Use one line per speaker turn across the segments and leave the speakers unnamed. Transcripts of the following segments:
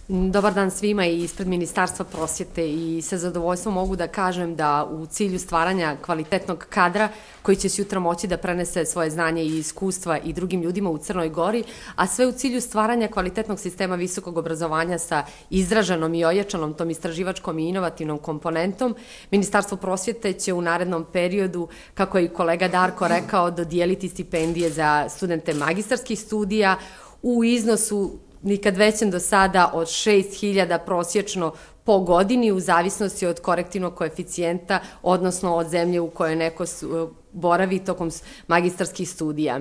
Dobar dan svima i ispred Ministarstva prosvjete i sa zadovoljstvom mogu da kažem da u cilju stvaranja kvalitetnog kadra koji će sutra moći da prenese svoje znanje i iskustva i drugim ljudima u Crnoj Gori, a sve u cilju stvaranja kvalitetnog sistema visokog obrazovanja sa izraženom i ojačanom tom istraživačkom i inovativnom komponentom, Ministarstvo prosvjete će u narednom periodu, kako je i kolega Darko rekao, dodijeliti stipendije za studente magistarskih studija u iznosu nikad većem do sada od 6.000 prosječno po godini u zavisnosti od korektivnog koeficijenta, odnosno od zemlje u kojoj neko boravi tokom magistarskih studija.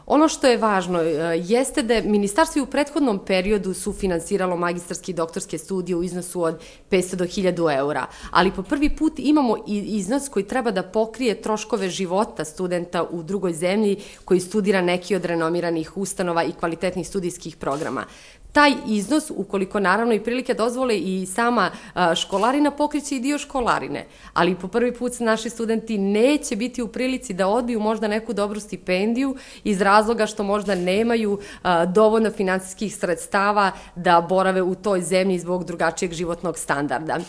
Ono što je važno jeste da je Ministarstvo u prethodnom periodu sufinansiralo magistarske i doktorske studije u iznosu od 500 do 1000 eura, ali po prvi put imamo i iznos koji treba da pokrije troškove života studenta u drugoj zemlji koji studira neki od renomiranih ustanova i kvalitetnih studijskih programa. Taj iznos, ukoliko naravno i prilike dozvole i sama školarina, pokriće i dio školarine, ali po prvi put naši studenti neće biti u prilici da odbiju možda neku dobru stipendiju iz razloga što možda nemaju dovoljno finansijskih sredstava da borave u toj zemlji zbog drugačijeg životnog standarda.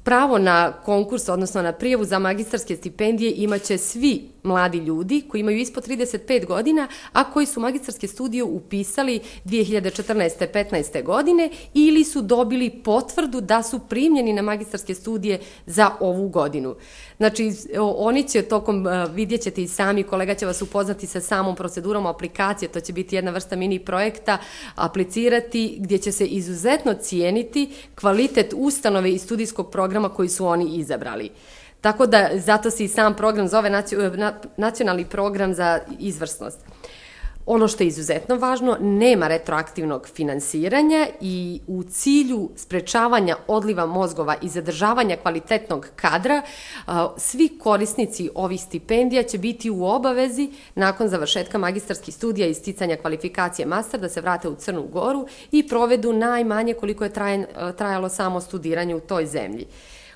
Pravo na konkurs, odnosno na prijavu za magistarske stipendije imaće svi mladi ljudi koji imaju ispod 35 godina, a koji su magistarske studije upisali 2014-15. godine ili su dobili potvrdu da su primljeni na magistarske studije za ovu godinu. Znači, oni će tokom, vidjet ćete i sami, kolega će vas upoznati sa samom procedurom aplikacije, to će biti jedna vrsta mini projekta, aplicirati gdje će se izuzetno cijeniti kvalitet ustanove i studijskog programa koji su oni izabrali. Tako da, zato se i sam program zove Nacionalni program za izvrsnost. Ono što je izuzetno važno, nema retroaktivnog finansiranja i u cilju sprečavanja odliva mozgova i zadržavanja kvalitetnog kadra, svi korisnici ovih stipendija će biti u obavezi nakon završetka magistarskih studija i sticanja kvalifikacije master da se vrate u Crnu Goru i provedu najmanje koliko je trajalo samo studiranje u toj zemlji.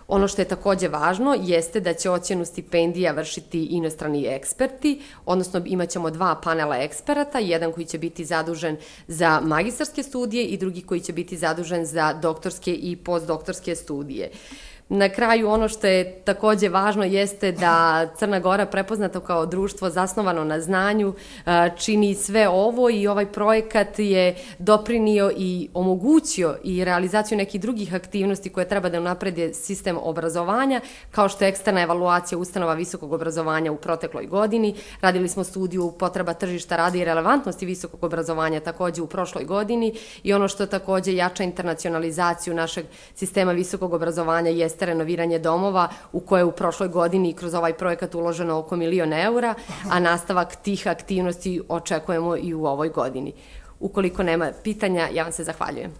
Ono što je takođe važno jeste da će ocjenu stipendija vršiti inostrani eksperti, odnosno imat ćemo 2 panela eksperata, jedan koji će biti zadužen za magistarske studije i drugi koji će biti zadužen za doktorske i postdoktorske studije. Na kraju, ono što je takođe važno jeste da Crna Gora, prepoznata kao društvo zasnovano na znanju, čini sve ovo i ovaj projekat je doprinio i omogućio i realizaciju nekih drugih aktivnosti koje treba da unaprede sistem obrazovanja, kao što je eksterna evaluacija ustanova visokog obrazovanja u protekloj godini. Radili smo studiju potreba tržišta rada i relevantnosti visokog obrazovanja takođe u prošloj godini i ono što takođe jača internacionalizaciju našeg sistema visokog obrazovanja jeste renoviranje domova u koje u prošloj godini kroz ovaj projekat uloženo oko 1.000.000 eura, a nastavak tih aktivnosti očekujemo i u ovoj godini. Ukoliko nema pitanja, ja vam se zahvaljujem.